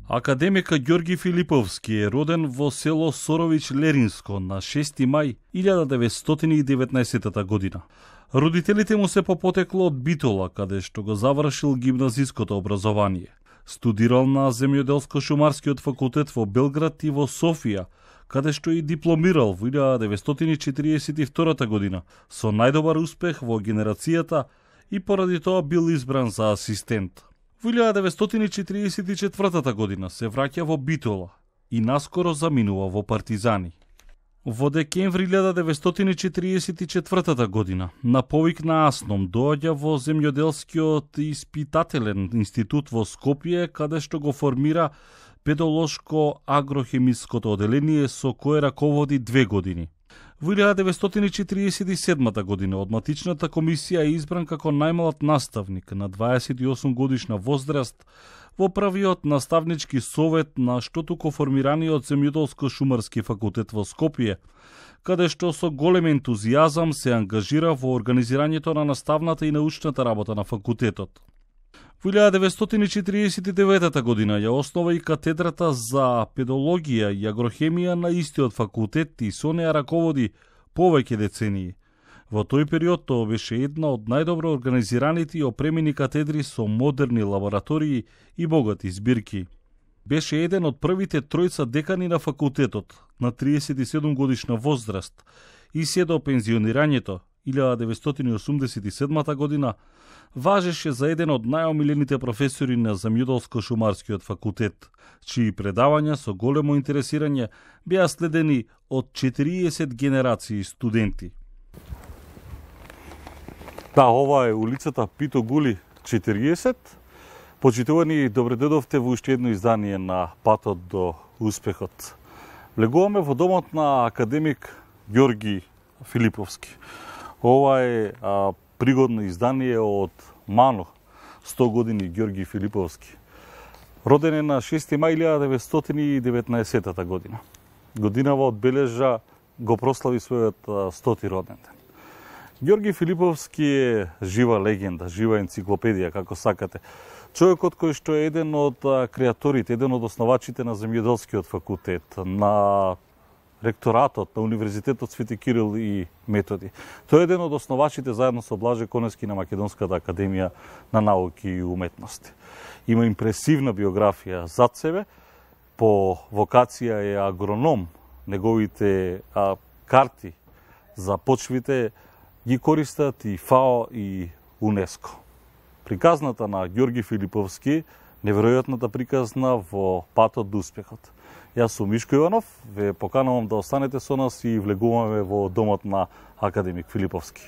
Академик Ѓорги Филиповски е роден во село Сорович Леринско на 6 мај 1919 година. Родителите му се по потекло од Битола, каде што го завршил гимназиското образование. Студирал на земјоделско-шумарскиот факултет во Белград и во Софија, каде што и дипломирал во 1942 година со најдобар успех во генерацијата и поради тоа бил избран за асистент. Во 1944 година се враќа во Битола и наскоро заминува во партизани. Во декември 1944 година на повик на АСНОМ доаѓа во земјоделскиот испитателен институт во Скопје, каде што го формира педолошко-агрохемиското оделение со кое раководи 2 години. Во 1947 година од матичната комисија е избран како најмлад наставник на 28 годишна возраст во првиот наставнички совет на штотуко формираниот земјоделско-шумарски факултет во Скопје, каде што со голем ентузијазам се ангажира во организирањето на наставната и научната работа на факултетот. Во 1949 година ја основа и катедрата за педологија и агрохемија на истиот факултет и со неа раководи повеќе децении. Во тој период тоа беше една од најдобро организираните и опремени катедри со модерни лаборатории и богати збирки. Беше еден од првите тројца декани на факултетот на 37 годишна возраст и се до пензионирањето 1987 година важеше за еден од најомилените професори на земјоделско-шумарскиот факултет, чии предавања со големо интересирање беа следени од 40 генерации студенти. Да, ова е улицата Пито Гули 40. Почитувани, добре дојдовте во уште едно издание на Патот до успехот. Влегуваме во домот на академик Ѓорги Филиповски. Ова е пригодно издание од Мано, 100 години Ѓорги Филиповски. Роден е на 6 мај 1919 година. Годинава одбележа го прослави својот 100-ти роден ден. Ѓорги Филиповски е жива легенда, жива енциклопедија, како сакате. Човекот кој што е еден од креаторите, еден од основачите на земјоделскиот факултет, на ректоратот на Универзитетот Свети Кирил и Методи. Тој е еден од основачите заедно со Блаже Конески на Македонската академија на науки и уметности. Има импресивна биографија зад себе, по вокација е агроном. Неговите карти за почвите ги користат и ФАО и УНЕСКО. Приказната на Ѓорги Филиповски, неверојатната приказна во Патот до успехот. Јас сум Мишко Иванов, ве поканувам да останете со нас и влегуваме во домот на академик Филиповски.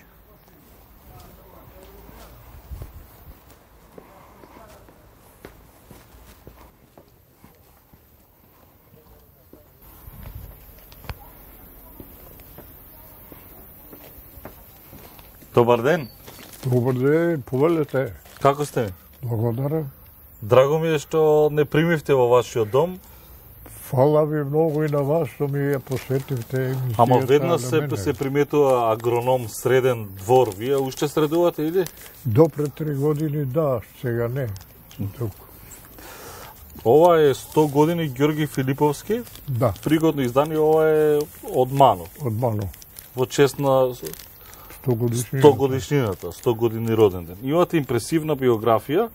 Добар ден. Добар ден, повелете. Како сте? Благодарам. Драго ми е што не примивте во вашиот дом. Фала ви многу и на вас што ми ја посветивте емисијата. Ама веднаш се приметува агроном среден двор. Вие уште средувате или? До пред 3 години да, сега не. Ова е 100 години Ѓорги Филиповски. Да. Пригодно издание, ова е од Мано. Од Мано. Во чест на 100 годишнината, 100 години роден ден. Имате импресивна биографија.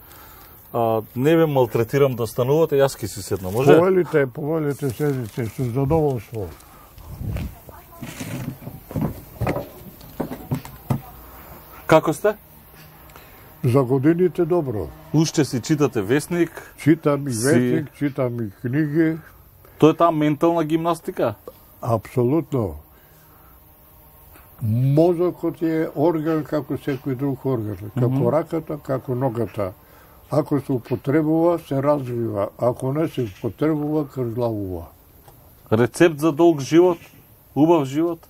Не ве малтретирам да станувате, јас ки си седна, може? Повелите седите, со задоволство. Како сте? За годините добро. Уште си читате весник? Читам и весник, читам и книги. Тоа е таа ментална гимнастика? Апсолутно. Мозокот е орган како секој друг орган. Како раката, како ногата. Ако се употребува, се развива. Ако не се употребува, крзлавува. Рецепт за долг живот? Убав живот?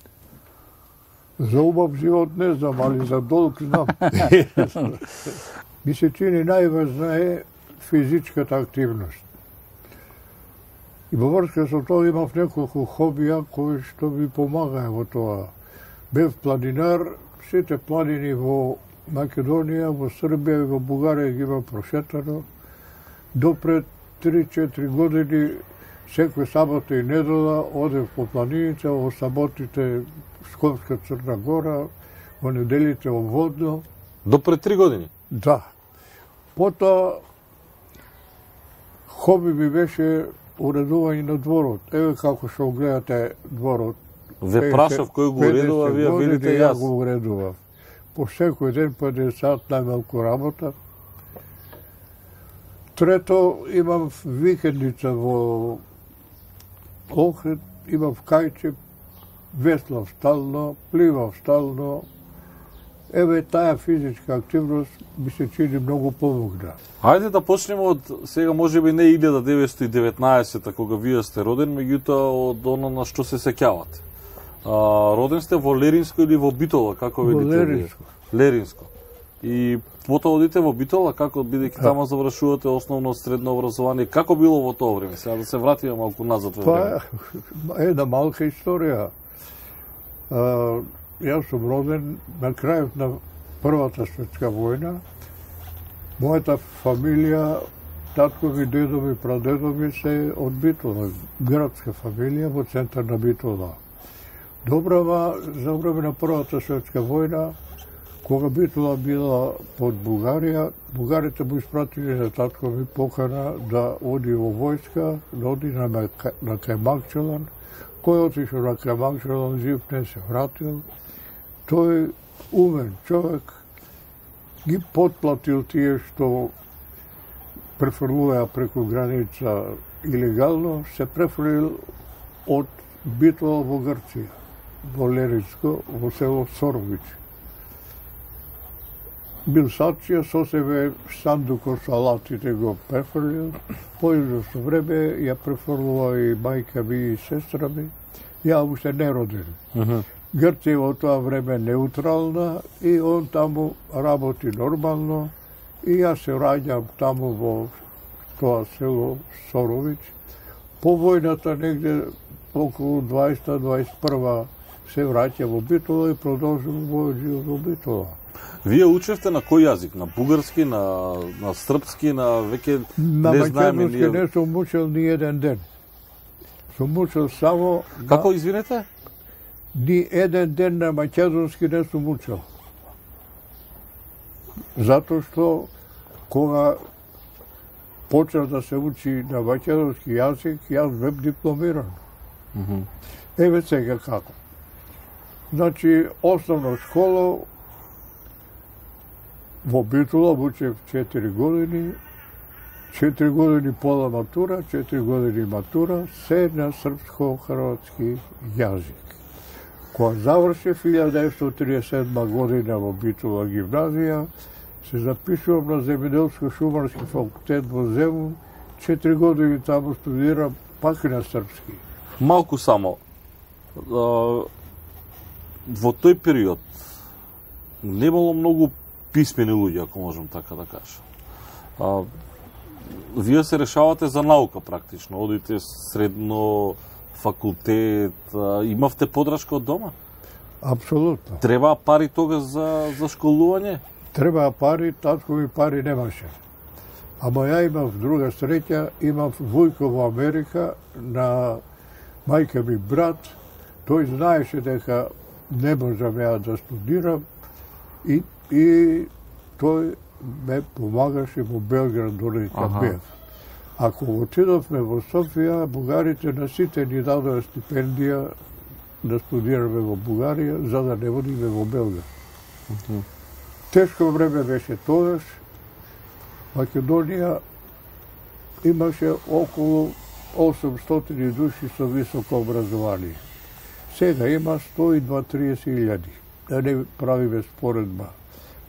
За убав живот не знам, али за долг знам. Ми се чини најважна е физичката активност. И во врска со тоа имав неколку хобија кои што ми помагаја во тоа. Бев планинар, сите планини во Македонија, во Србија и во Бугарија ги има прошетано. Допред 3-4 години секој сабота и недела одев по планините, во саботите Скопска Црна Гора, во неделите во Водно. До пред 3 години? Да. Потоа хоби ми беше уредување на дворот. Еве како што гледате дворот. Ве прашав кој го уредува, вие велите јас. Го уредував. По секој ден по 1 сат најмалку работа. Трето, имам викендица во Охрид, имам кајче, веслав стално, пливав стално. Еве, таа физичка активност ми се чини многу помогна. Хајде да почнеме од сега, можеби не 1919 кога вие сте роден, меѓутоа од оно на што се сеќавате. Роден сте во Леринско или во Битола, како велите вие? Во Леринско. Леринско. И потоа одите во Битола, како бидејќи тама завршувате основно средно образование, како било во тоа време? Сега да се вратиме малку назад во време. Една малка историја. Јас сум роден на крајот на Првата светска војна. Мојата фамилија, таткови, дедови, прадедови се од Битола, градска фамилија во центар на Битола. Добрава, за време на Првата светска војна, кога Битола била под Бугарија, бугарите му испратили на таткови покана да оди во војска, да оди на Кајмакчелан. Кој отишо на Кајмакчелан, жив не се вратил. Тој умен човек ги потплатил тие што префрлуваја преку граница илегално, се префрлил од Битола во Грција, во Леринско, во село Сорович. Бил сачија, со себе сандуко со алатите го префрлил, по известно време ја префрлува и мајка ми и сестра ми, ја уште не роден. Грција во тоа време неутрална и он таму работи нормално и јас се раѓам таму во тоа село Сорович. По војната негде околу 20-21 се враќа во Битола и продолжувам мојот живот во Битола. Вие учевте на кој јазик? На бугарски, на српски, на веќе не знаеме ние? На македонски не сум учел ни еден ден. Сум учел само... Како, извинете? Ни еден ден на македонски не сум учел. Затоа што кога почнав да се учи на македонски јазик, јас бев дипломиран. Еве сега како. Значи, основна школа во Битола учев 4 години, 4 години пола матура, 4 години матура, се на српско-хрватски јазик. Кога завршив 1937 година во Битола гимназија, се запишувам на земјоделско-шумарски факултет во Земун, 4 години таму студирам пак и на српски. Малку само, во тој период немало многу писмени луѓе, ако можам така да кажам. Вие се решавате за наука практично, одите средно, факултет, имавте подршка од дома? Апсолутно. Требаа пари тогаш за школување? Требаа пари, таткови пари немаше. Ама ја имав друга среќа, имав вујко во Америка, на мајка ми брат, тој знаеше дека не можам ја да студирам и тој ме помагаше во Белград дори кога бев. Ако отидовме во Софија, бугарите на сите ни дадоа стипендија да студираме во Бугарија, за да не водиме во Белград. Тешко време беше тогаш. Македонија имаше околу 800 души со високо образование. Сега има 120-30 илјади. Да не правиме споредба.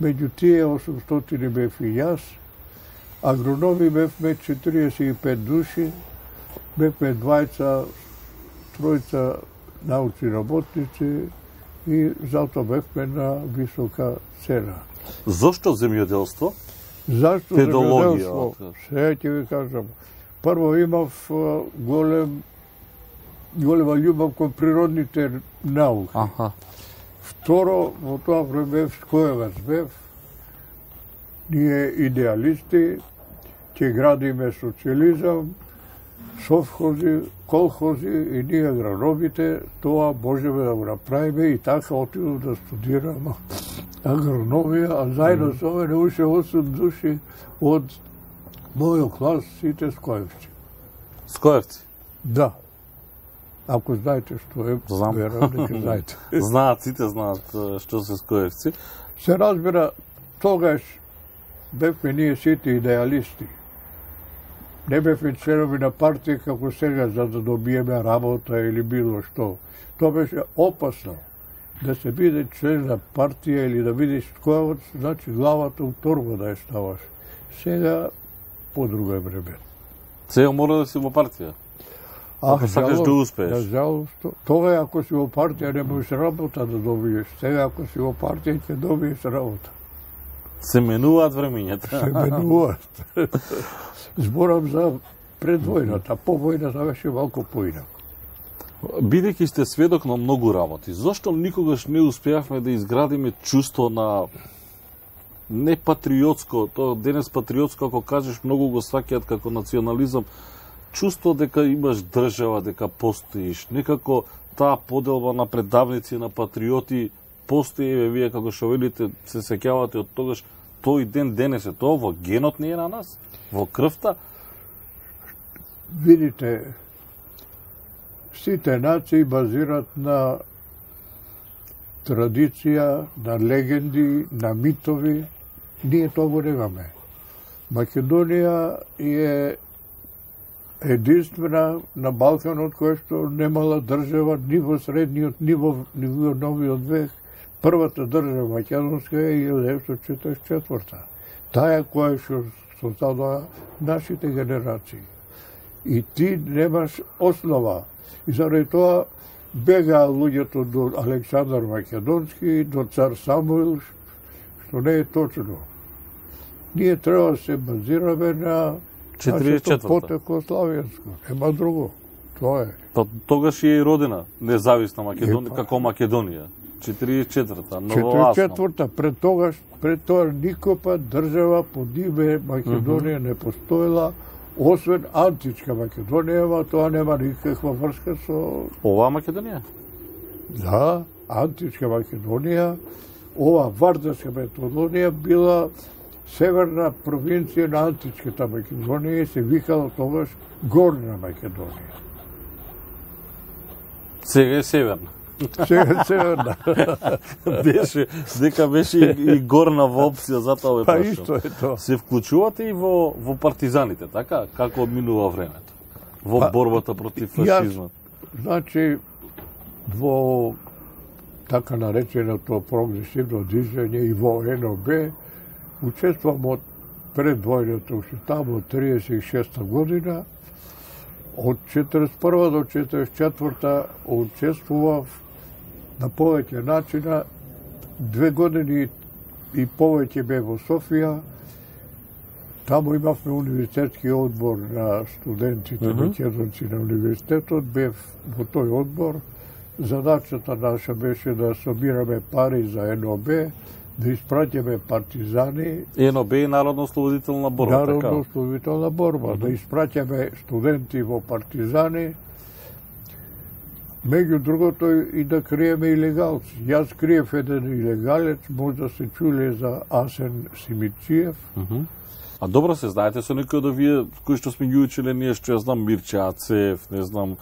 Меѓу тие 800 бев и јас, агрономи бевме 45 души, бевме тројца научни работници и затоа бевме на висока цена. Зошто земјоделство? Зашто земјоделство? Сега ќе ви кажам. Прво имав голема љубов кон природните науки. Второ, во тоа време скојавац бев, ние идеалисти, ќе градиме социализам, совхози, колхози и ние агрономите, тоа можеме да го направиме и така отидов да студирам агрономија, а заедно со мене уште 8 души од мојот клас, сите скоевци. Скоевци? Да. Ако знаете што е, знам. верам дека знаете. Знаат, сите знаат што се скоевци. Се разбира, тогаш бевме ние сите идеалисти. Не бевме членови на партија како сега за да добиеме работа или било што. Тоа беше опасно. Да се биде член на партија или да бидеш скоевец, значи главата у торба да ја ставаш. Сега по друго е време. Сега мора да си во партија. Ако сакаш да успееш. Да, жалост. Тога ако си во партија не можеш работа да добиеш. Сега ако си во партија ќе добиеш работа. Се менуваат времењата. Се менуваат. Зборам за пред војната. По војната беше малку поинако. Бидејќи сте сведок на многу работи, зошто никогаш не успеавме да изградиме чувство на не патриотско, тоа денес патриотско, ако кажеш, многу го сваќаат како национализам, чувство дека имаш држава, дека постоиш, некако таа поделба на предавници на патриоти постои, вие како што велите, се сеќавате од тогаш, тој ден денес е тоа во генот не е на нас, во крвта. Видите, сите нации базират на традиција, на легенди, на митови. Ние тоа го немаме. Македонија е единствена на Балканот која што немала држава ни во средниот, ни во новиот век. Првата држава македонска е 1944. Таа која што создадоа нашите генерации. И ти немаш основа. И заради тоа бегаа луѓето до Александар Македонски, до цар Самуил, што не е точно. Ние треба да се базираме на 44-та. потекло славенско. Нема друго. Тоа е. Па тогаш е и родена независна Македонија, како Македонија. 44-та, новооасна. 44-та, пред тоа никопа држава под име Македонија не постоела, освен античка Македонија, ама тоа нема никаква врска со... Оваа Македонија? Да, античка Македонија, ова Вардарска Македонија била северна провинција на античката Македонија и се викала тогаш Горна Македонија. Сега е северна. Сега е северна. Дека беше и горна во опција, затоа ве Па прашам. исто е тоа. Се вклучувате и во партизаните, така? Како одминува времето? Во борбата против фашизмот? Значи, во така нареченото прогресивно движење и во НОБ учествувам од пред војната, уште таму од 36-та година. Од 41 до 44 учествував на повеќе начина. 2 години и повеќе бев во Софија. Таму имавме универзитетски одбор на студентите македонци на универзитетот. Бев во тој одбор. Задачата наша беше да собираме пари за НОБ, да испраќаме партизани. НОБ е Народно-ослободителна борба, така? Народно-ослободителна борба. Да испраќаме студенти во партизани. Меѓу другото и да криеме илегалци. Јас криев еден илегалец, може да се чуле за Асен Симициев. А добро се знаете со некој од овие кои што сме ги учеле ние, што ја знам, Мирче Ацев, не знам,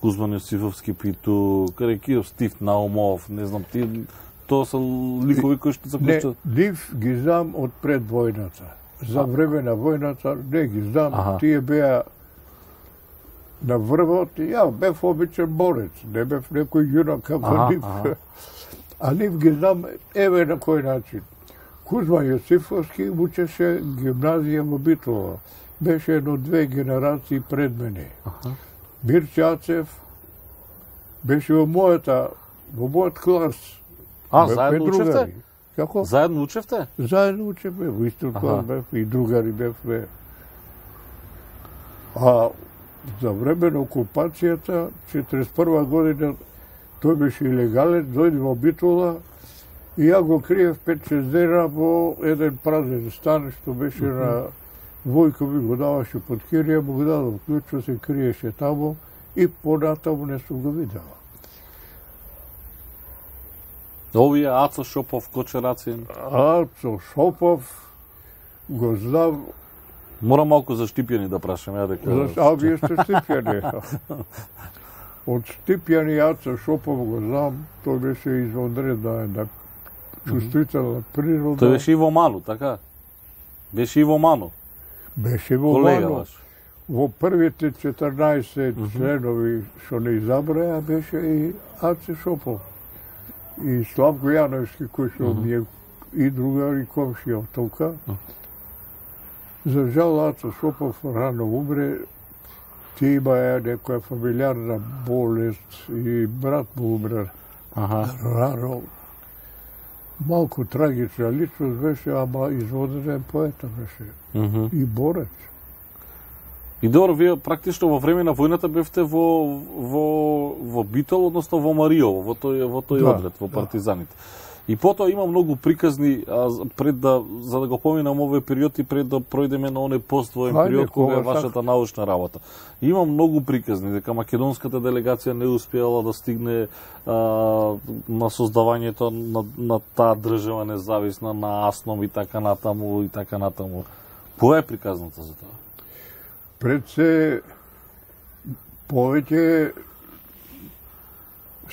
Кузман Јосифовски Питу, Карекиров, Стив Наумов, не знам, тоа се ликови кои што се Не, нив ги знам од пред војната. За време на војната не ги знам, тие беа на врвот, ја бев обичен борец, не бев некој јунак како нив. А нив ги знам, еве на кој начин. Кузман Јосифовски учеше гимназија во Битола. Беше едно-две генерации пред мене. Мирче Ацев беше во мојот клас. Заедно учевте? Како? Заедно учевте? Заедно учевме, во исто клас бев и другари бевме. А за време на окупацијата, 41 година, тој беше илегален, дојде во Битола и ја го криев 5-6 дена во еден празен стан што беше на Војко ми го даваше под кирија, му го дадов клучо, се криеше тамо и понатаму не сум го видела. Овие Ацо Шопов, Коче Рацин. Ацо Шопов го знам. Мора малку за Штипјани да прашам, ја дека. А вие сте Штипјани. Од Штипјани Ацо Шопов го знам, тој беше извонредна една чувствителна природа. Тој беше Иво Ману, така? Беше Иво Ману. Беше Иво Ману. Во првите 14 членови што не изабраја беше и Ацо Шопов. И Славко Јановски, кој што ми е и другар и комшија од тука. За жал, Ацо Шопов рано умре. Ти има некоја фамилиарна болест и брат му умре рано. Малку трагична личност беше, ама изводен поета беше. И борец. И добро, вие практично во време на војната бевте во Битол, односно во Мариово, во тој одред, во партизаните. И потоа има многу приказни, за да го поминам овој период и пред да пројдеме на оној поствоен период кога е вашата научна работа. Има многу приказни дека македонската делегација не успеала да стигне на создавањето на таа држава независна, на Асном и така натаму и така натаму. Која е приказната за тоа? Пред се повеќе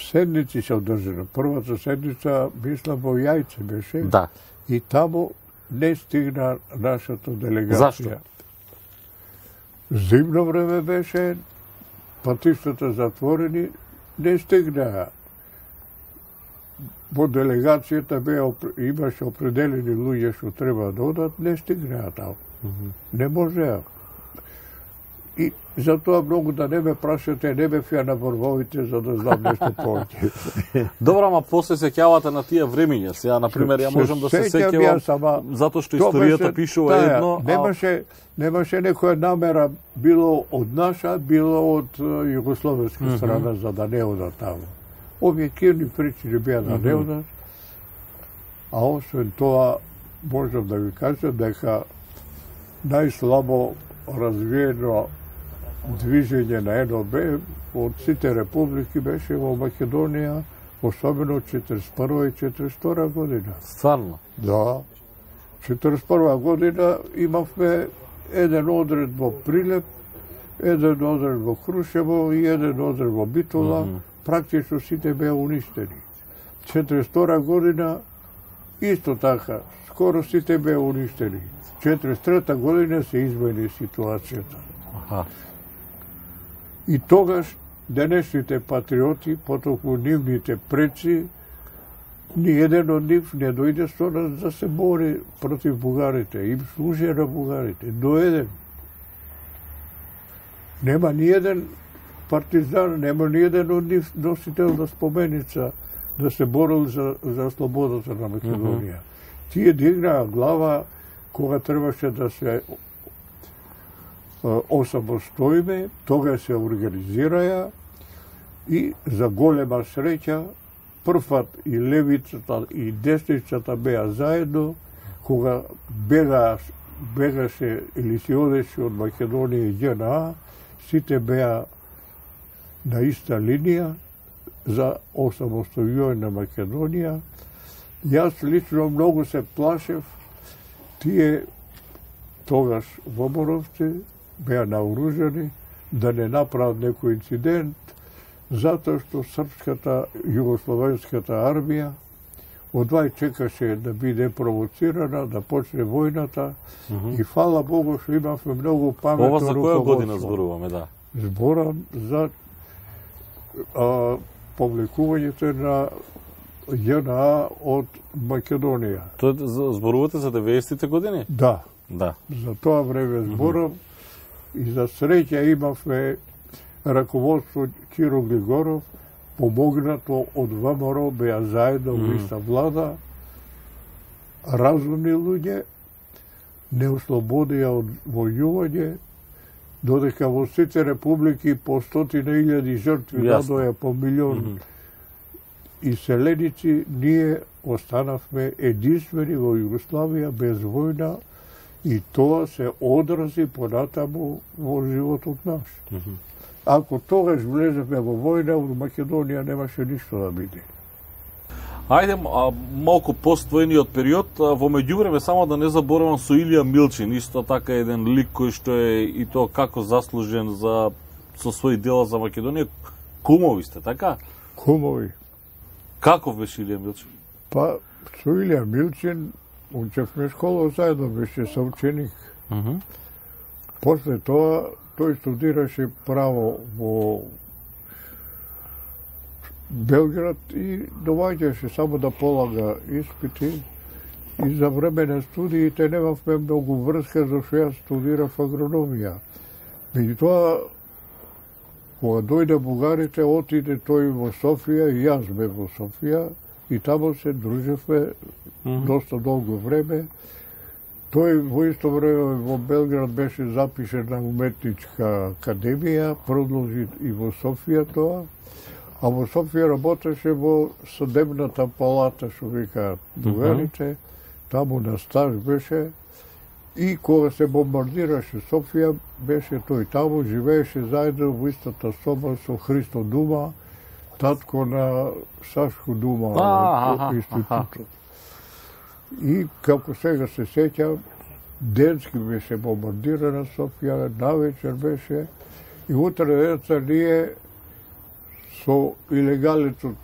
седници се одржана. Првата седница, мислам, во Јајце беше. Да. И таму не стигна нашата делегација. Зашто? Зимно време беше, патиштата затворени, не стигнаа. Во делегацијата имаше определени луѓе што треба да одат, не стигнаа таму. Не можеа. И затоа многу да не ме прашате, не ме фија на борбовите за да знам нешто повеќе. Добро, ама после се сеќавате на тие времиња. Сега, например, ја можам да се сеќавам, затоа што историјата пишува едно. Немаше некоја намера, било од наша, било од југословенска страна, за да не одат таму. Објективни причини беа да не одат, а освен тоа, можам да ви кажам дека најслабо развиено движење на НОБ од сите републики беше во Македонија, особено 41 и 42 година. Стварно? Да. 41 година имавме еден одред во Прилеп, еден одред во Крушево и еден одред во Битола. Практично сите беа уништени. 42 година исто така, скоро сите беа уништени. 43 година се измени ситуацијата. И тогаш денешните патриоти, потоку нивните предци, ни еден од нив не дојде со нас да се бори против бугарите, им служи на бугарите, до еден. Нема ни еден партизан, нема ни еден од нив носител на споменица да се борил за слободата на Македонија. Тие дигнаа глава кога требаше да се осамостоиме, тога се организираја и за голема среќа првпат и левицата и десницата беа заедно, кога бегаше или се одеше од Македонија и џНА, сите беа на иста линија за осамостојување на Македонија. Јас лично многу се плашев, тие тогаш во Боровци беа наоружени да не направат некој инцидент, затоа што српската југословенската армија одвај чекаше да биде провоцирана, да почне војната и фала Богу што имавме многу паметно руководство. Ова за која година зборуваме, да? Зборам за повлекувањето на ЈНА од Македонија. Тоа зборувате за 90-те години? Да. Да. За тоа време зборам и за среќа имавме раководство Киро Глигоров, помогнато од ВМРО, беа заедно во иста влада, разумни луѓе, не ослободија од војување, додека во сите републики по 100.000 жртви, надоја по милион иселеници, ние останавме единствени во Југославија без војна И тоа се одрази понатаму во животот наш. Ако тогаш влезевме во војна, во Македонија немаше ништо да биде. Ајде, малку поствоениот период, во меѓувреме само да не заборавам со Илија Милчин, исто така еден лик кој што е и тоа како заслужен со своји дела за Македонија. Кумови сте, така? Кумови. Каков беше Илија Милчин? Па, со Илија Милчин учевме школа заедно, беше соученик. После тоа, тој студираше право во Белград и доваѓаше само да полага испити. И за време на студиите немавме многу врска, зашто јас студирав агрономија. Меѓутоа, кога дојде бугарите, отиде тој во Софија и јас бе во Софија и таму се дружевме доста долго време. Тој во исто време во Белград беше запишен на уметничка академија, продолжи и во Софија тоа, а во Софија работеше во судебната палата, што викаат бугарите, таму на стаж беше. И кога се бомбардираше Софија, беше тој таму, живееше заедно во истата соба со Христо Дума, татко на Сашко Дума во институтот. И како сега се сеќам, денски беше бомбардирана Софија, навечер беше, и утре денеца ние со илегалецот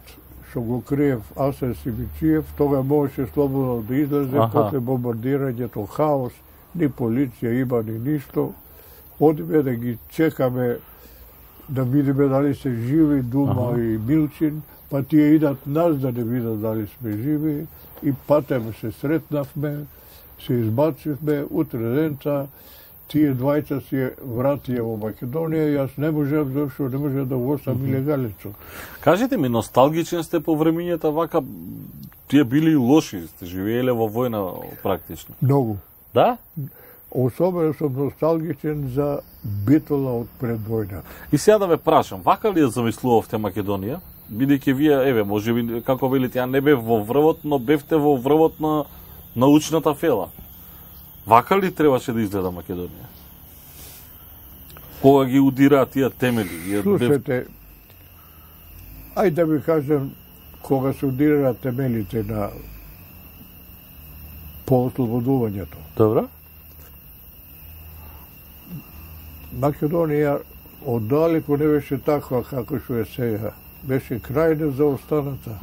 што го криев Асен Симичиев, тога можеше слободно да излезе, после бомбардирањето, хаос, ни полиција има, ни ништо. Одиме да ги чекаме, да видиме дали се живи Дума и Милчин, па тие идат нас да не видат дали сме живи, и патем се сретнавме, се избачивме, утре денца, тие двајца си вратија во Македонија, јас не можев, зашто не можев да го оставам илегалецот. Кажете ми, носталгичен сте по времињата вака, тие били и лоши, сте живееле во војна практично? Многу. Да? Особено сум носталгичен за Битола од пред војната. И сега да ве прашам, вака ли ја замислувавте Македонија? Бидејќи вие, еве, може би, како велите, ја не бев во врвот, но бевте во врвот на научната фела. Вака ли требаше да изгледа Македонија? Кога ги удираат тие темели? Слушайте, ајде да ви кажем, кога се удираат темелите на поослободувањето. Добро. Македонија оддалеку не беше таква како што е сега. Беше крајно заостаната.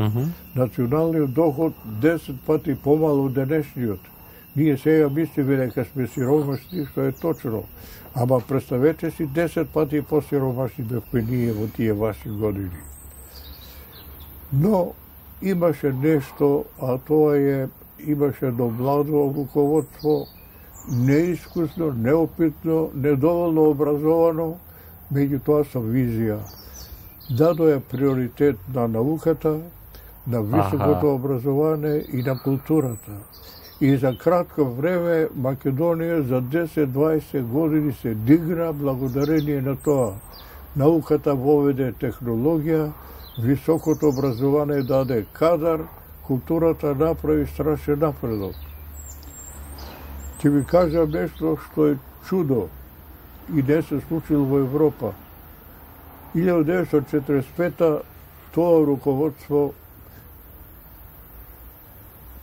Националниот доход 10 пати помало од денешниот. Ние сега мислиме дека сме сиромашни, што е точно. Ама представете си 10 пати посиромашни бевме ние во тие ваши години. Но имаше нешто, а тоа е, имаше едно младо руководство, неискусно, неопитно, недоволно образовано, меѓутоа со визија. Дадоја приоритет на науката, на високото образование и на културата. И за кратко време Македонија за 10-20 години се дигна благодарение на тоа. Науката воведе технологија, високото образование даде кадар, културата направи страшен напредок. Ќе ви кажам нешто што е чудо и не се случило во Европа. 1945 тоа руководство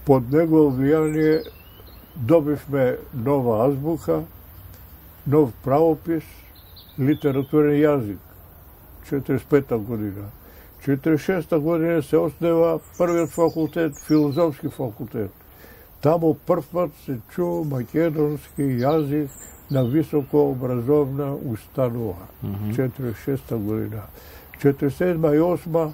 под негово влијание добивме нова азбука, нов правопис, литературен јазик. 45 година. 46 година се основа првиот факултет, филозофски факултет. Таму првпат се чу македонски јазик на високо образовна установа. 46 година. 47 и 8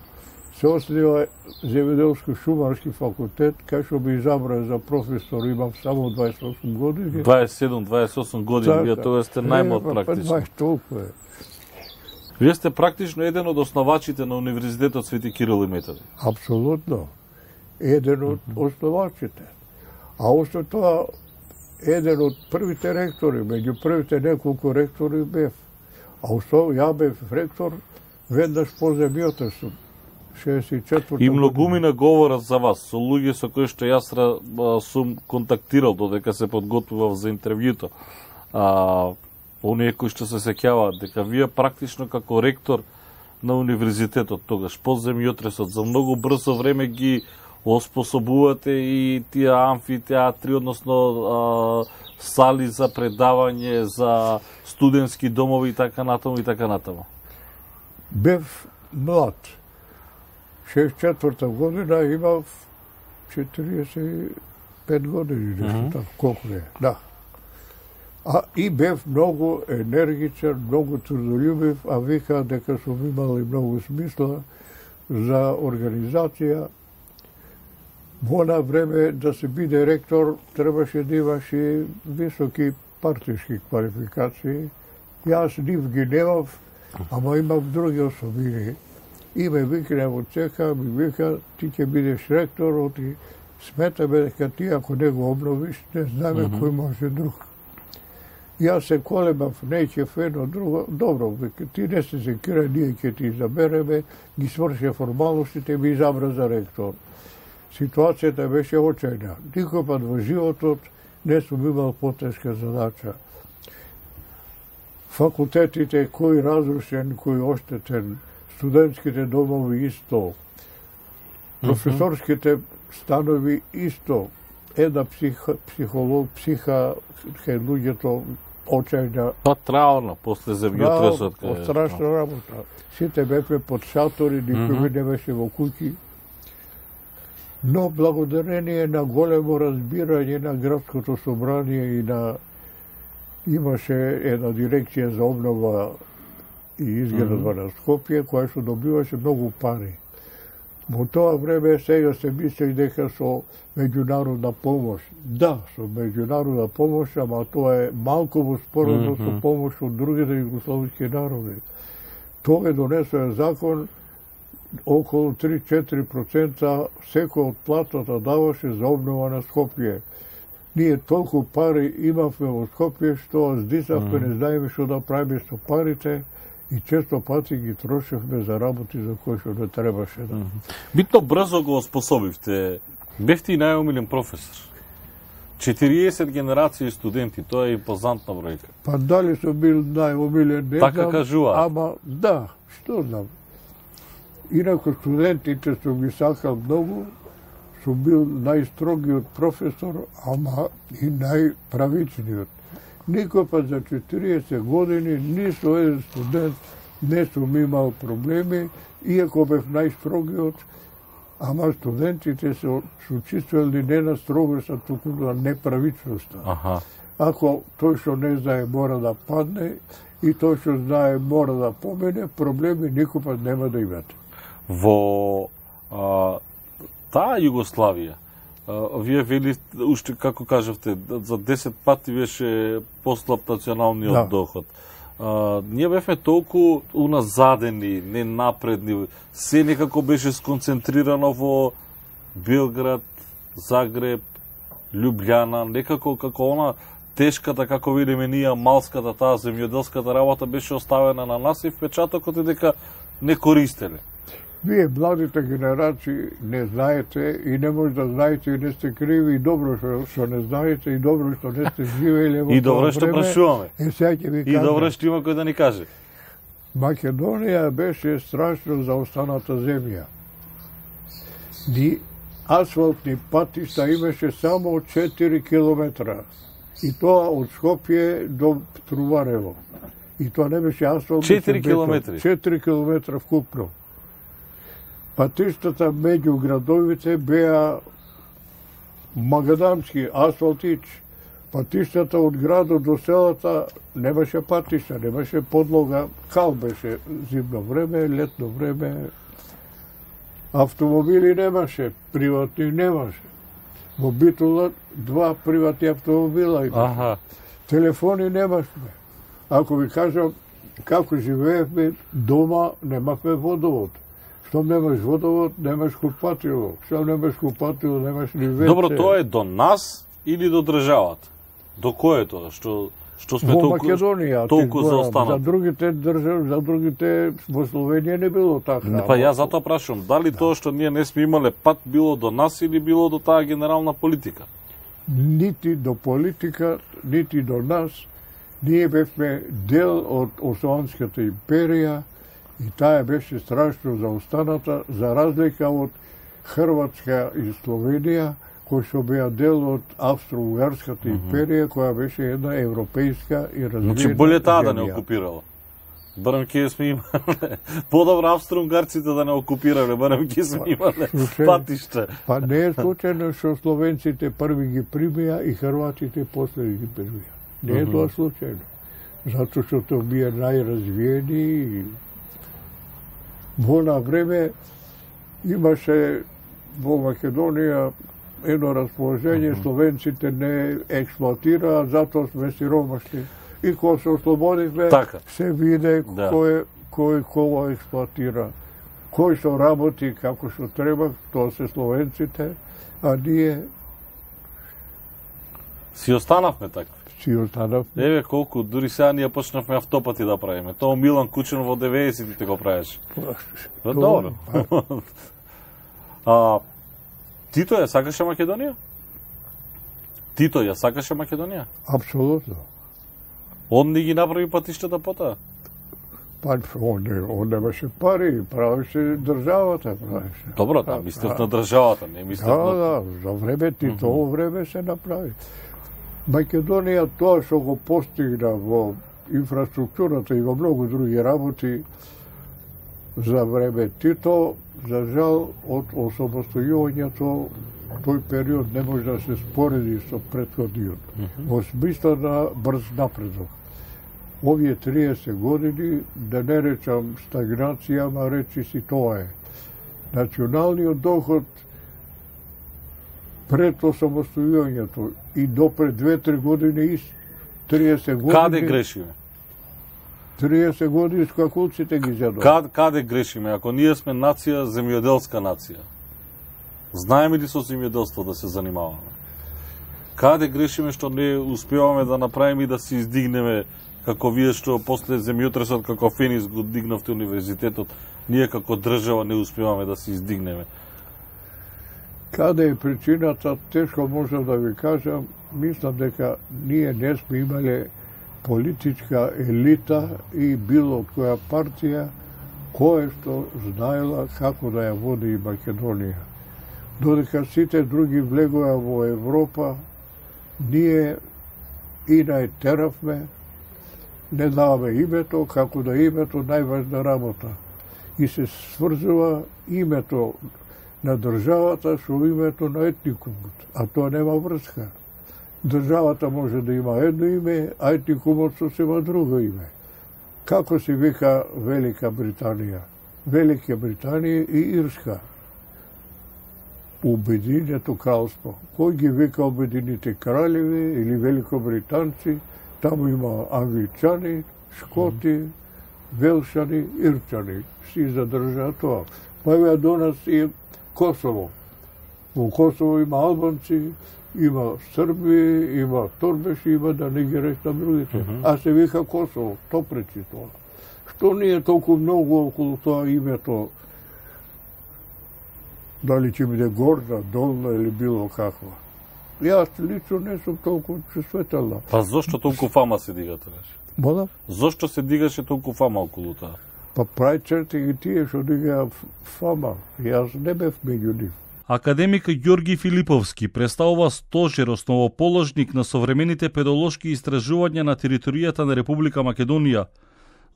се основа земјоделско-шумарски факултет, кај што би изабран за професор, имам само 28 години. 27-28 години, вие тоа сте најмлад практично. Толку е. Вие сте практично еден од основачите на Универзитетот Свети Кирил и Методи. Апсолутно. Еден од основачите. А осто тоа, еден од првите ректори, меѓу првите неколку ректори бев. А осто ја бев ректор веднаш по земјотресот. 64 И многумина говорат за вас, со луѓе со кои што јас сум контактирал додека се подготвував за интервјуто. Оние кои што се сеќаваат дека вие практично како ректор на универзитетот тогаш, по земјотресот, за многу брзо време ги оспособувате и тие амфитеатри, односно сали за предавање, за студентски домови и така натаму и така натаму. Бев млад. 64-та година имав 45 години, нешто така, колку е, да. И бев многу енергичен, многу трудолюбив, а вика дека сум имал и многу смисла за организација. Во она време да се биде ректор требаше да имаш и високи партиски квалификации. Јас нив ги немав, ама имав други особини. И ме викне во цеха, ми вика, ти ќе бидеш ректор, оти сметаме дека ти ако не го обновиш, не знаме кој може друг. Јас се колебав, не ќе едно друго, добро, вика, ти не се секира, ние ќе ти изабереме, ги сврше формалностите, ми изабра за ректор. Ситуацијата беше очајна. Никој пат во животот не сум имал потешка задача. Факултетите, кој разрушен, кој оштетен, студентските домови исто, професорските станови исто, една психа кај луѓето очајна. Траурно, после земјотресот. Страшна работа. Сите бевме под шатори, никој не беше во куќи. Но благодарение на големо разбирање на градското собрание и имаше една дирекција за обнова и изградба на Скопје, која што добиваше многу пари. Во тоа време сега се мисли дека со меѓународна помош. Да, со меѓународна помош, ама тоа е малку во споредно со помош од другите југословски народи. Тоа е донесен закон, околу 3-4% секој од платата даваше за обнова на Скопје. Ние толку пари имавме во Скопје, што здисавме, не знаеме што да правиме со парите и често пати ги трошевме за работи за кои што не требаше да. Битно брзо го оспособивте. Бевте и најомилен професор. 40 генерации студенти, тоа е импозантна бројка. Па дали сум бил најомилен, не така знам, кажува. Ама да, што знам. Инако студентите сум ги сакал многу, сум бил најстрогиот професор, ама и најправичниот. Никој пат за 40 години ни со еден студент не сум имал проблеми, иако бев најстрогиот, ама студентите се чувствували не на строгоста, туку на неправичноста. Ако тој што не знае мора да падне и тој што знае мора да помене, проблеми никој пат нема да имате. Во таа Југославија, вие вели, уште како кажавте, за 10 пати беше послаб националниот доход. Ние бевме толку уназадени, ненапредни, се некако беше сконцентрирано во Белград, Загреб, Лјубљана, некако како она тешката, како видиме ние, малската, таа земјоделската работа беше оставена на нас и впечатокот е дека не користеле. Вие, младите генерации, не знаете и не може да знаете и не сте криви и добро што не знаете и добро што не сте живееле во тоа време. И добро што прашуваме. И добро што има кој да ни каже. Македонија беше страшно заостаната земја. Ни асфалтни патишта имаше само 4 километра. И тоа од Скопје до Труварево. И тоа не беше асфалт. 4 километри? 4 километра вкупно. Патиштата меѓу градовите беа магадамски асфалтич. Патиштата од градот до селата немаше патишта, немаше подлога, кал беше зимно време, летно време. Автомобили немаше, приватни немаше. Во Битола 2 приватни автомобила имаше. Телефони немашме. Ако ви кажам како живеевме дома, немахме водовод. Штом немаш водовод, немаш купатило. Штом немаш купатило, немаш ни веце. Добро, тоа е до нас или до државата? До кој е тоа? Што Што сме во Македонија, толку заостанати? За другите држави, за другите во Словенија не било така. Па јас затоа прашувам, дали тоа што ние не сме имале пат било до нас или било до таа генерална политика? Нити до политика, нити до нас. Ние бевме дел од Османската империја и таа беше страшно заостаната, за разлика од Хрватска и Словенија, кои што беа дел од Австро-Угарската империја, која беше една европејска и развиена. Значи боле таа да не окупирала. Барем ќе сме имале. Подобро австро-угарците да не окупирале, барем ќе сме имале патишта. Па не е случајно што словенците први ги примија и хрватите после ги примија. Не е тоа случајно. Затоа што тоа бие најразвиени и во на време имаше во Македонија едно расположение, словенците не експлоатираа, затоа сме сиромашни. И кога се ослободивме, така се виде кој кого експлоатира. Кој што работи како што треба, тоа се словенците, а ние си останавме такви. Си останавме. Еве колку, дури сега ние почнавме автопати да правиме. Тоа Милан Кучен во 90-тите го правеше. Добро. Тито ја сакаше Македонија? Тито ја сакаше Македонија? Апсолутно. Он не ги направи патиштата потоа? Па, он немаше пари, правеше државата, правеше. Добро, да, мислев на државата, не мислев на... Да, за време Титово време се направи. Македонија тоа што го постигна во инфраструктурата и во многу други работи за време Тито, за жал, од освободувањето тој период не може да се спореди со претходниот. Во смисла на брз напредок. Овие 30 години, да не речам стагнација, ама речи си тоа е. Националниот доход пред освободувањето и допред 2-3 години, 30 години... Каде грешиме? 30 години скакулците ги зедува. Каде грешиме? Ако ние сме нација, земјоделска нација, знаеме ли со земјоделство да се занимаваме? Каде грешиме што не успеваме да направиме и да се издигнеме, како вие што после земјотресот како Фенис го дигнавте универзитетот, ние како држава не успеваме да се издигнеме? Каде е причината, тешко можам да ви кажам. Мислам дека ние не сме имале политичка елита и било од која партија која што знаела како да ја води и Македонија. Додека сите други влегоа во Европа, ние и најтеравме, не даваме името, како да името најважна работа. И се сврзува името на државата со името на етникумот, а тоа нема врска. Државата може да има едно име, а етникумот сосема друго име. Како се вика Велика Британија? Велика Британија и Ирска. Обединето кралство. Кој ги вика Обединените кралеви или великобританци? Таму има англичани, шкоти, велшани, ирчани. Си задржаа тоа. Па ја до нас и Косово. Во Косово има албанци, има срби, има торбеши, има да не ги речам другите. А се вика Косово, то пречи тоа. Што ние толку многу околу тоа името, дали ќе биде горна, долна или било каква. Јас лично не сум толку чувствителна. Па зошто толку фама се дига тогаш? Мода? Зошто се дигаше толку фама околу тоа? Па прај черти ги тие што дига фама. Јас не бев меѓу нив. Академик Ѓорги Филиповски представува стожер основоположник на современите педолошки истражувања на територијата на Република Македонија.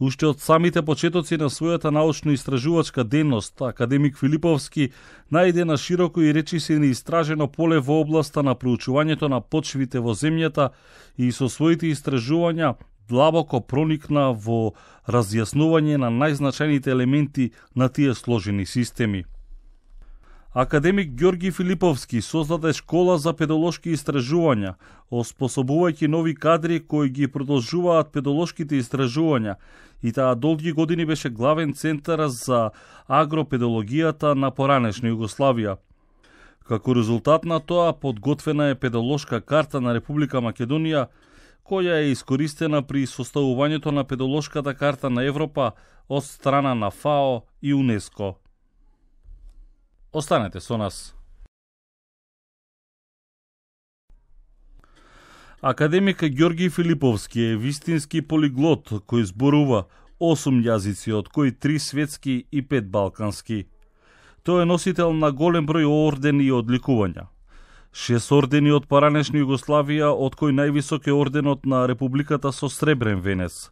Уште од самите почетоци на својата научно-истражувачка дејност, академик Филиповски најде на широко и речиси неистражено поле во областа на проучувањето на почвите во земјата и со своите истражувања длабоко проникна во разјаснување на најзначајните елементи на тие сложени системи. Академик Ѓорги Филиповски создаде школа за педолошки истражувања, оспособувајќи нови кадри кои ги продолжуваат педолошките истражувања, и таа долги години беше главен центар за агропедологијата на поранешна Југославија. Како резултат на тоа, подготвена е педолошка карта на Република Македонија, која е искористена при составувањето на педолошката карта на Европа од страна на ФАО и УНЕСКО. Останете со нас. Академик Ѓорги Филиповски е вистински полиглот кој зборува 8 јазици, од кои 3 светски и 5 балкански. Тој е носител на голем број ордени и одликувања. 6 ордени од поранешна Југославија, од кој највисок е орденот на Републиката со сребрен венец.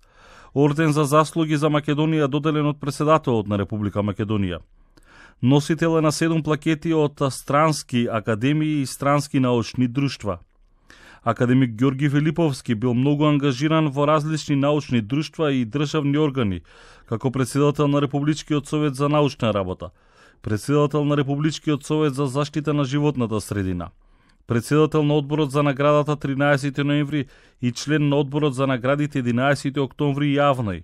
Орден за заслуги за Македонија доделен од председателот на Република Македонија. Носител е на 7 плакети од странски академии и странски научни друштва. Академик Ѓорги Филиповски бил многу ангажиран во различни научни друштва и државни органи, како председател на Републичкиот совет за научна работа, председател на Републичкиот совет за заштита на животната средина, председател на одборот за наградата 13 ноември и член на одборот за наградите 11 октомври јавној,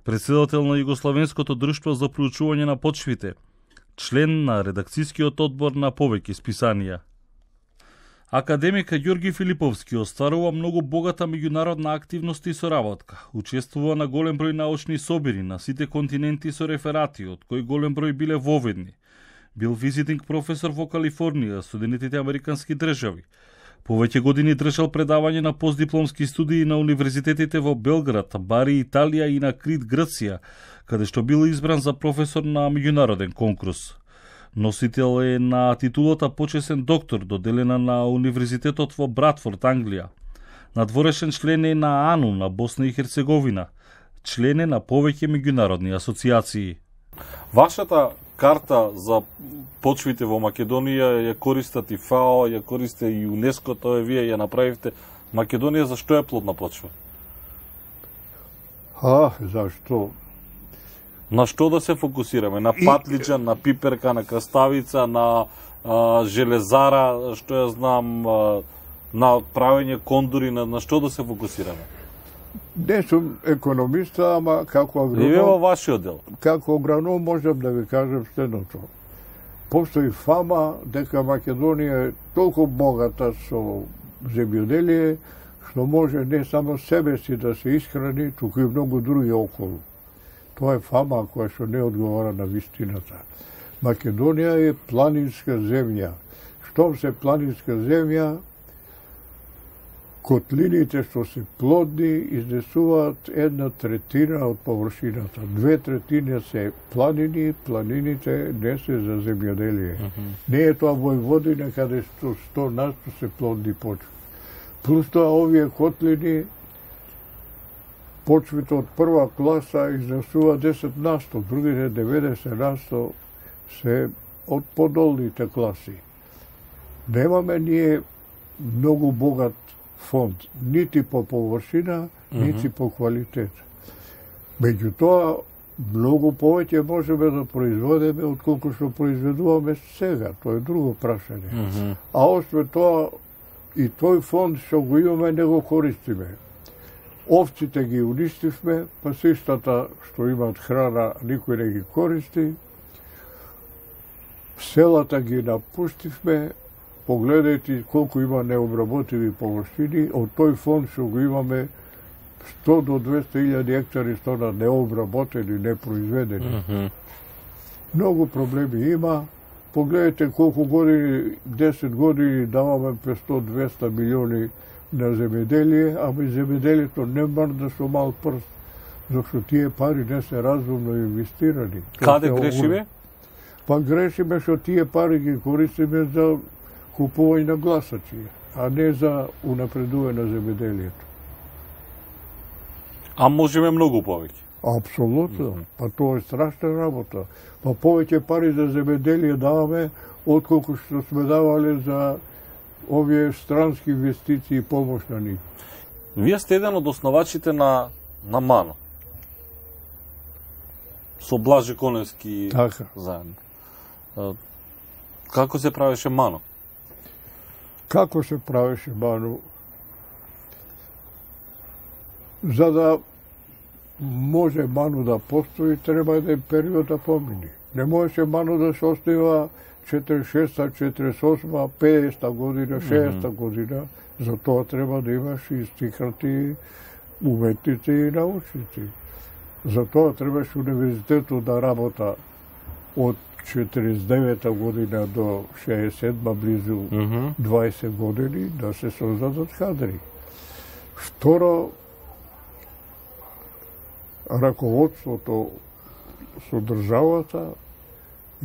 председател на Југословенското друштво за проучување на почвите, член на редакцијскиот одбор на повеќе списанија. Академик Ѓорги Филиповски остварува многу богата меѓународна активност и соработка. Учествува на голем број научни собири на сите континенти со реферати, од кои голем број биле воведни. Бил визитинг професор во Калифорнија, Соединетите Американски држави. Повеќе години држал предавање на постдипломски студии на универзитетите во Белград, Бари, Италија и на Крит, Грција, каде што бил избран за професор на меѓународен конкурс. Носител е на титулата почесен доктор, доделена на Универзитетот во Братфорд, Англија. Надворешен член е на АНУ на Босна и Херцеговина. Член е на повеќе меѓународни асоциации. Вашата карта за почвите во Македонија ја користат и ФАО, ја користи и ЮНЕСКО, тоа вие ја направивте. Македонија за што е плодна почва? Зашто? На што да се фокусираме? На патлиџан, на пиперка, на краставица, на железара, што ја знам, на правење кондури, на што да се фокусираме? Не сум економиста, ама како агроном... И во вашиот дел? Како агроном можам да ви кажам следното. Постои фама дека Македонија е толку богата со земјоделие, што може не само себе си да се исхрани, туку и многу други околу. Тоа е фама која што не одговара на вистината. Македонија е планинска земја. Штом се планинска земја, котлините што се плодни изнесуваат 1/3 од површината. 2/3 се планини, планините не се за земјоделие. Не е тоа Војводина каде што 100% се плодни почви. Плюс тоа овие котлини, почвите од прва класа изнесува 10%, другите 90% се од подолните класи. Немаме ние многу богат фонд, нити по површина, нити по квалитет. Меѓутоа, многу повеќе можеме да производиме отколку што произведуваме сега. Тоа е друго прашање. А освен тоа, и тој фонд што го имаме не го користиме. Овците ги уништивме, па систата што имаат храна никој не ги користи. Селата ги напуштивме, погледајте колку има необработиви површини, од тој фонд што го имаме 100 до 200.000 хектари што на необработени, непроизведени. Многу проблеми има. Погледайте колку години, 10 години даваме 500-200 милиони на земјоделие, ама и земјоделието не мрда со мал прст, зашто тие пари не се разумно инвестирани. Каде грешиме? Па грешиме што тие пари ги користиме за купување на гласачи, а не за унапредување на земјоделието. А можеме многу повеќе? Апсолутно. Па тоа е страшна работа. Па повеќе пари за земјоделие даваме, отколку што сме давале за овие странски инвестиции и помош на нив. Вие сте еден од основачите на МАНО. Со Блаже Коневски заедно. Како се правеше МАНО? Како се правеше МАНО? За да може МАНО да постои, треба еден период да помини. Не можеше МАНО да се основа 46-та, 48-та, 50-та година, 60-та година, за тоа треба да имаш и стикати, уметници и научници. За тоа требаше универзитетот да работа од 49-та година до 67-та, близу 20 години, да се создадат кадри. Второ, раководството со државата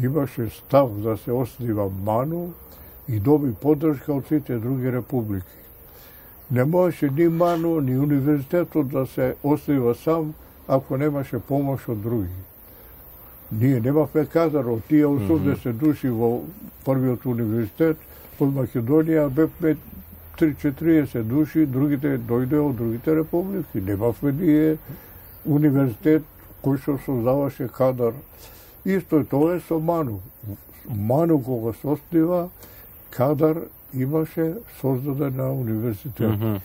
имаше став да се оснива МАНУ и доби поддршка од сите други републики. Не можеше ни МАНУ, ни универзитетот да се оснива сам, ако немаше помош од други. Ние немавме кадар од тие 80 души во првиот универзитет, од Македонија бевме 30 души, другите дојде од другите републики. Немавме ние универзитет кој што создаваше кадар. Исто тоа е со МАНУ. МАНУ кога се оснива, кадар имаше создаден на универзитет.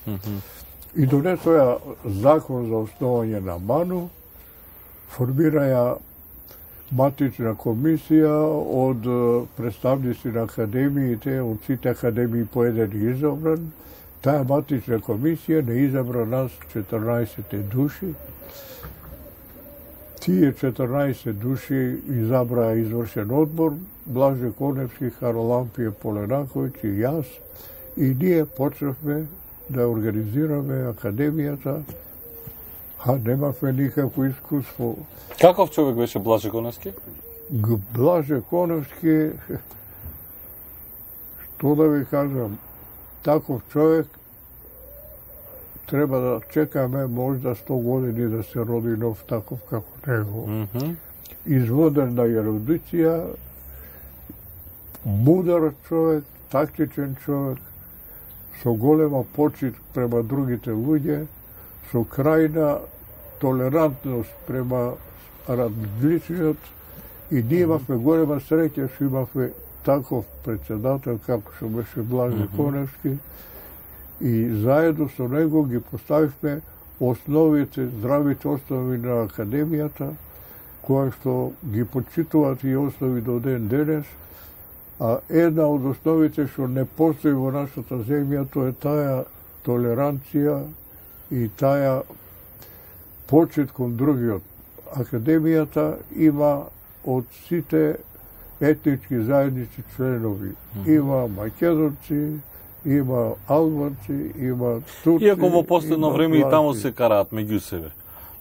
И донесоја закон за основање на МАНУ, формираја матична комисија од представници на академиите, од сите академии по еден изабран. Таа матична комисија не изабра нас 14 души. Тие 14 души изабраа извршен одбор, Блаже Коневски, Харалампије Поленаковиќ и јас, и ние почнавме да организираме академијата, а немавме никакво искуство. Каков човек беше Блаже Коневски? Блаже Коневски, што да ви кажам, таков човек треба да чекаме можда 100 години да се роди нов таков како него. Изводен на ерудиција, мудар човек, тактичен човек, со голема почит према другите луѓе, со крајна толерантност према различниот, и ние имавме голема среќа што имавме таков председател како што беше Блаже Коневски, и заедно со него ги поставивме основите, здравите основи на академијата, која што ги почитуваат и основи до ден денес, а една од основите што не постои во нашата земја, тоа е таа толеранција и таа почит кон другиот. Академијата има од сите етнички заедници членови. Има македонци, има албанци, има турци. Иако во последно време и таму се караат меѓу себе.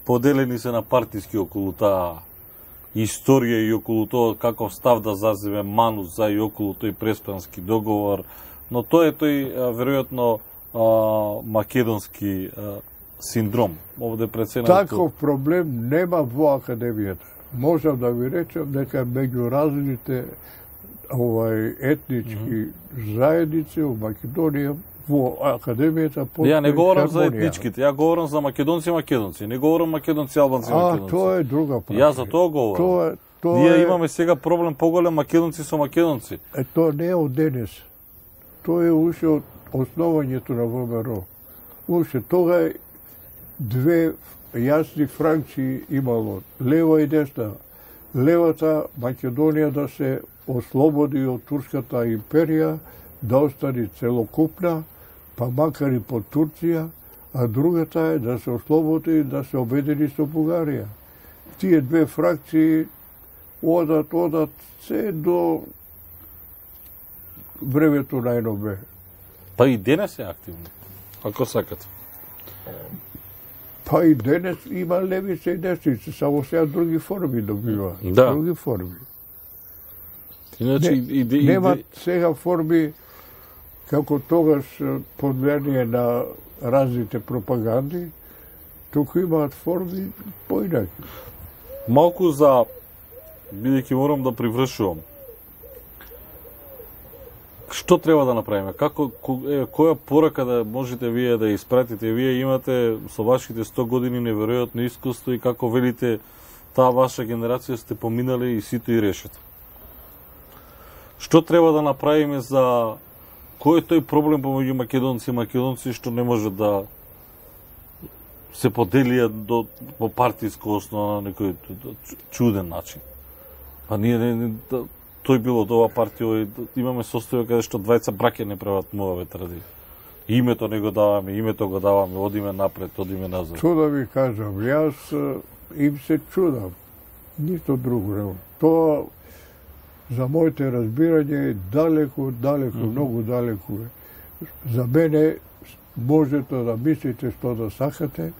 Поделени се на партиски околу таа историја и околу тоа каков став да заземе МАНУ за и околу тој преспански договор, но тоа е тој веројатно македонски синдром. Овде преценато... Таков проблем нема во академијата. Можам да ви речам дека меѓу различните етнички заедници во Македонија, во академијата постои Ја не говорам хармонија. за етничките, ја говорам за македонци, не говорам македонци, албанци, македонци. Тоа е друга прашање. Ја за тоа говорам. Ние имаме сега проблем поголем македонци со македонци. Тоа не е од денес. Тоа е уште од основањето на ВМРО. Уште тога е две јасни фракции имало, лева и десна. Левата Македонија да се ослободи од турската империја, да остане целокупна, па макар и под Турција, а другата е да се ослободи и да се обедини со Бугарија. Тие две фракции одат се до времето на НОБ. Па и денес е активно, ако сакате. Па и денес има левица и десница, само сега други форми добива. Да. Други форми. Иначе Немат сега форми како тогаш под влијание на разните пропаганди, туку имаат форми поинаки. Малку за, бидејќи морам да привршувам. Што треба да направиме? Која порака да можете вие да испратите? Вие имате со вашите 100 години неверојатно искуство и како велите, таа ваша генерација сте поминали и сите и решете. Што треба да направиме за кој е тој проблем помеѓу македонци и македонци што не може да се поделиат по партиско основа на некој чуден начин? Па ние тој бил од ова партија, имаме состојба каде што двајца браќа не прават моваве традиции. Името не го даваме, името го даваме, одиме напред, одиме назад. Што да ви кажам, јас им се чудам. Ништо друго не. Тоа за моите разбирање е далеку, многу далеку е. За мене можете да мислите што да сакате,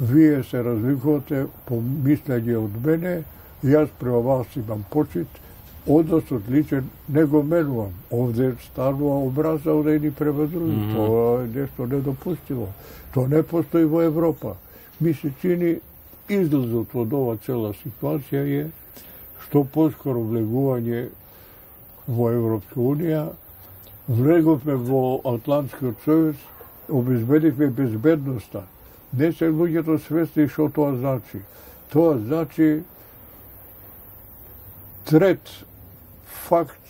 вие се разликувате по мислење од мене, јас према вас имам почит, односот личен не го менувам. Овде станува образа од едни према други. Тоа е нешто недопустимо. Тоа не постои во Европа. Ми се чини излезот од ова цела ситуација е што поскоро влегување во Европска Унија, влеговме во Атлантскиот сојуз, обезбедивме безбедноста. Не се луѓето свесни што тоа значи. Тоа значи трет факт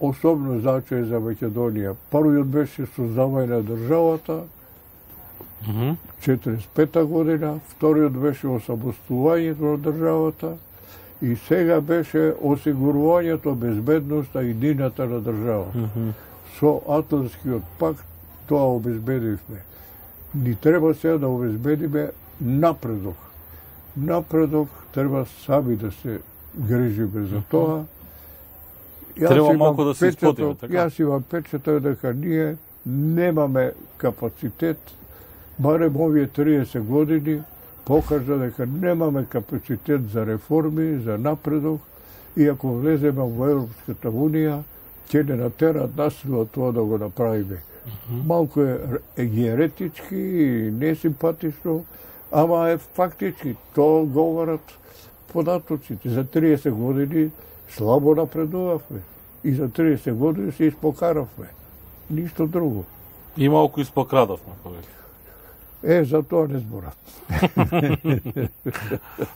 особено значај за Македонија. Првиот беше создавање на државата, 45-та година, вториот беше осамостувањето на државата и сега беше осигурувањето безбедноста и едината на државата. Со Атлантскиот пакт тоа обезбедивме. Ни треба сега да обезбедиме напредок. Напредок треба сами да се грижиме за тоа. Треба малку да се испотиме, така? Јас имам печатот дека ние немаме капацитет, барем овие 30 години покажа дека немаме капацитет за реформи, за напредок, и ако влеземе во Европската Унија, ќе не натерат насилно тоа да го направиме. Малку е еретички и несимпатично, ама е фактички. Тоа говорат податоците. За 30 години слабо напредувавме. И за 30 години се испокаравме. Ништо друго. И малку испокрадавме, повеќе. За тоа не зборат.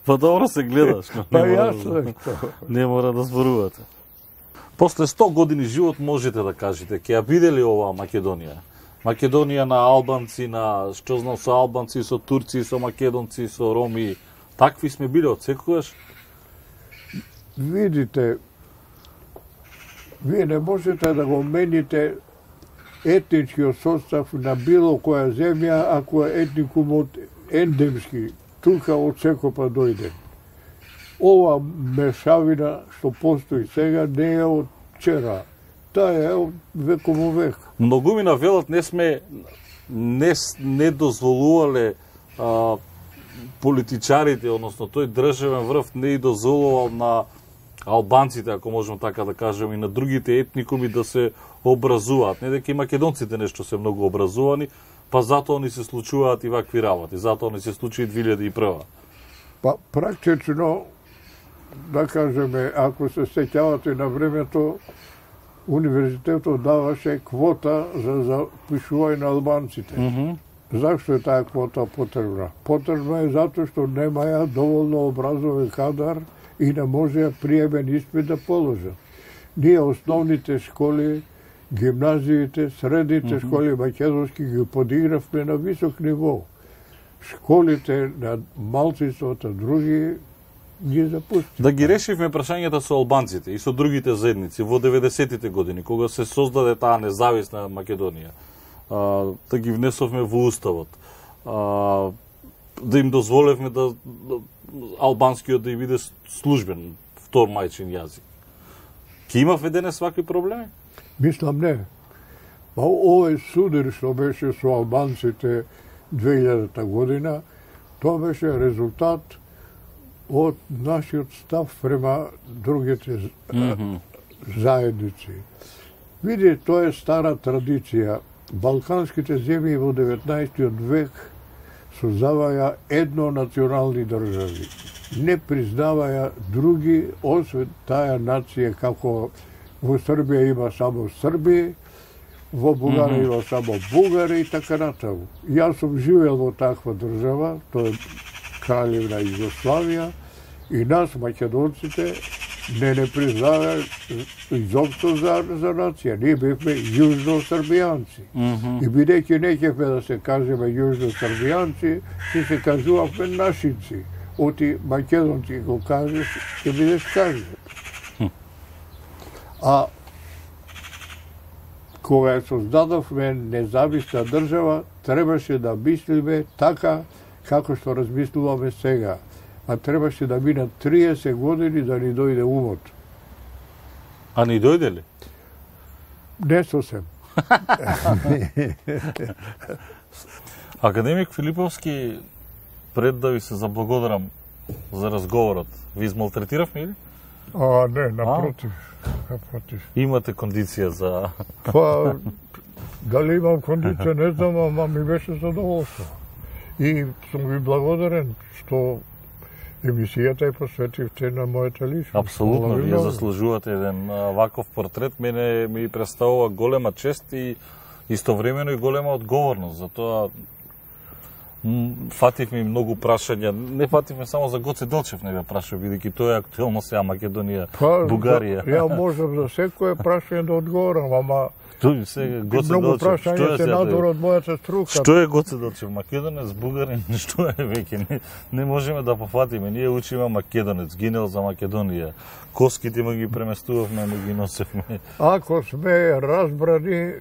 Па добро се гледаш. Па јасно е тоа. Не мора да зборувате. После 100 години живот можете да кажете, ќе ја биде ли оваа Македонија? Македонија на албанци, на што знам со албанци, со турци, со македонци, со роми. Такви сме биле од секогаш? Видите, вие не можете да го мените етничкиот состав на било која земја ако е етникумот ендемски, тука од секопа дојде. Ова мешавина што постои сега не е од вчера. Таа е од веков во век. Многумина велат не дозволувале политичарите, односно тој државен врв не и дозволувал на албанците, ако можеме така да кажеме, и на другите етникуми да се образуваат. Не дека и македонците нешто се многу образувани, па затоа ни се случуваат и вакви работи. Затоа ни се случи и 2001. Па практично, да кажеме, ако се сеќавате на времето, универзитетот даваше квота за запишување на албанците. Зашто е таа квота потребна? Потребна е затоа што немаја доволно образовен кадар и не можеа приемен испит да положат. Ние основните школи, гимназиите, средните школи македонски ги подигравме на висок ниво. Школите на малцинствата други ги запустиме. Да ги решивме прашањата со албанците и со другите заедници во 90-тите години, кога се создаде таа независна Македонија. Да ги внесовме во уставот. Да им дозволевме да албанскиот да и биде службен втор мајчин јазик. Ке имавме денес вакви проблеми? Мислам не. Па овој судар што беше со албанците 2000-та година, тоа беше резултат од нашиот став према другите заедници. Види, тоа е стара традиција. Балканските земји во 19 век создаваја еднонационални држави. Не признаваја други, освен таа нација, како во Србија има само Срби, во Бугарија има само бугари и така натаму. Јас сум живеел во таква држава, тоа е Краљевна Југославија, и нас, македонците, не признаваја изопшто за нација. Ние бевме јужно-србијанци. И бидејќи не ќевме да се кажеме јужно-србијанци, ќе се кажувавме нашинци. Оти македонци го кажеш, ќе бидеш кажен. А кога ја создадовме независна држава, требаше да мислиме така како што размислуваме сега. А требаше да минат 30 години да ни дојде умот. А ни дојде ли? Не сосем. Академик Филиповски, пред да ви се заблагодарам за разговорот, ви измалтретиравме или? Не, напротив. Напротив. Имате кондиција за... Па, дали имам кондиција, не знам, ама ми беше задоволство. И сум ви благодарен што емисијата е посветивте на мојата личност. Апсолутно, вие заслужувате еден ваков портрет. Мене ми представува голема чест и истовремено и голема одговорност. Затоа фативме многу прашања. Не фативме само за Гоце Делчев, не бе прашав, бидејќи тоа е актуелно сега Македонија, Бугарија. Ја можам за секое прашање да одговорам, ама Тој сега Гоце многу Делчев, прашања се надвор од мојата струка. Што е Гоце Делчев? Македонец, бугарин, што е веќе? Не можеме да пофатиме. Ние учиме македонец, гинел за Македонија. Коските му ги преместувавме, му ги носевме. Ако сме разбрани,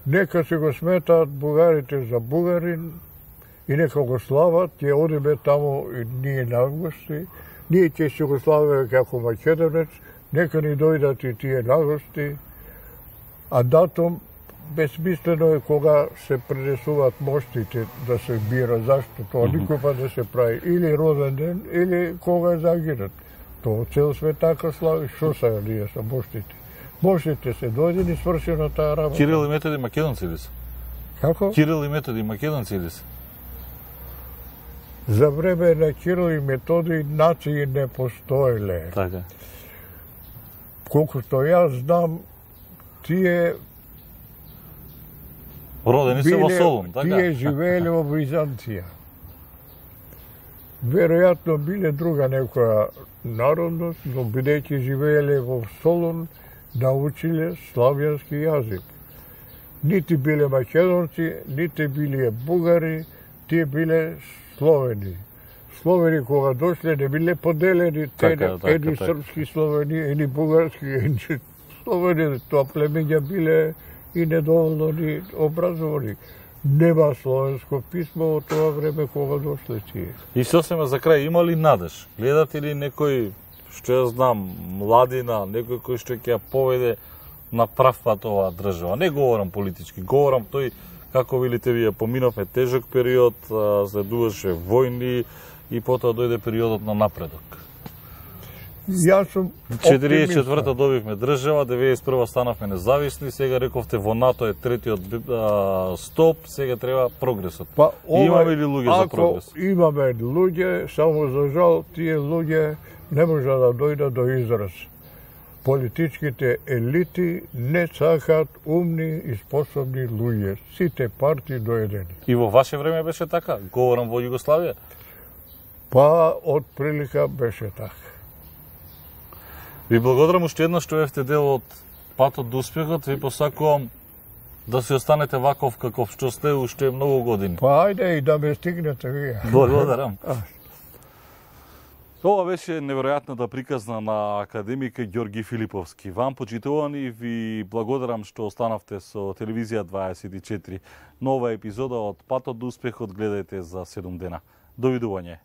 нека се го сметаат бугарите за бугарин и нека го слават, ќе одиме таму и ние на гости. Ние ќе се го славиме како македонец, нека ни дојдат и тие на гости. А датум безсмислено е кога се пренесуваат моштите да се бира. Зашто тоа никој па да се прави или роден ден, или кога е загинат. Тоа цел свет така слави, што са ние са моштите. Моштите се дојдени и свршена таа работа. Кирил и Методи македонци ли се? Како? Кирил и Методи македонци ли се? За време на Кирил и Методи нации не постоеле. Така. Колку што јас знам, тие родени се во Солун, така? Тие живееле во Византија. Веројатно биле друга некоја народност, но бидејќи живееле во Солун, научиле славјански јазик. Нити биле македонци, нити биле бугари, тие биле словени. Словени кога дошле не биле поделени, едни српски словени, едни бугарски, едни словени, тоа племења биле и недоволно ни образовани. Нема словенско писмо во тоа време кога дошле тие. И сосема за крај, има ли надеж? Гледате ли некој, што ја знам, младина, некој кој што ќе ја поведе на прав пат оваа држава? Не говорам политички, говорам тој, како велите вие, поминовме тежок период, следуваше војни и потоа дојде периодот на напредок. Јас сум 44-та добивме држава, 91-та станавме независни, сега рековте во НАТО е третиот стоп, сега треба прогресот. Па, имаме ли луѓе за прогрес? Ако имаме луѓе, само за жал тие луѓе не може да дојдат до израз. Политичките елити не сакаат умни и способни луѓе. Сите партии доедени. И во ваше време беше така? Говорам во Југославија? Па, од прилика беше така. Ви благодарам уште едно што бевте дел од патот до успехот. Ви посакувам да се останете ваков каков што сте уште многу години. Па, ајде и да ме стигнете вие. Благодарам. Ова беше неверојатната приказна на академик Ѓорги Филиповски. Вам, почитувани, ви благодарам што останавте со Телевизија 24. Нова епизода од Патот до успехот гледајте за 7 дена. Довидување.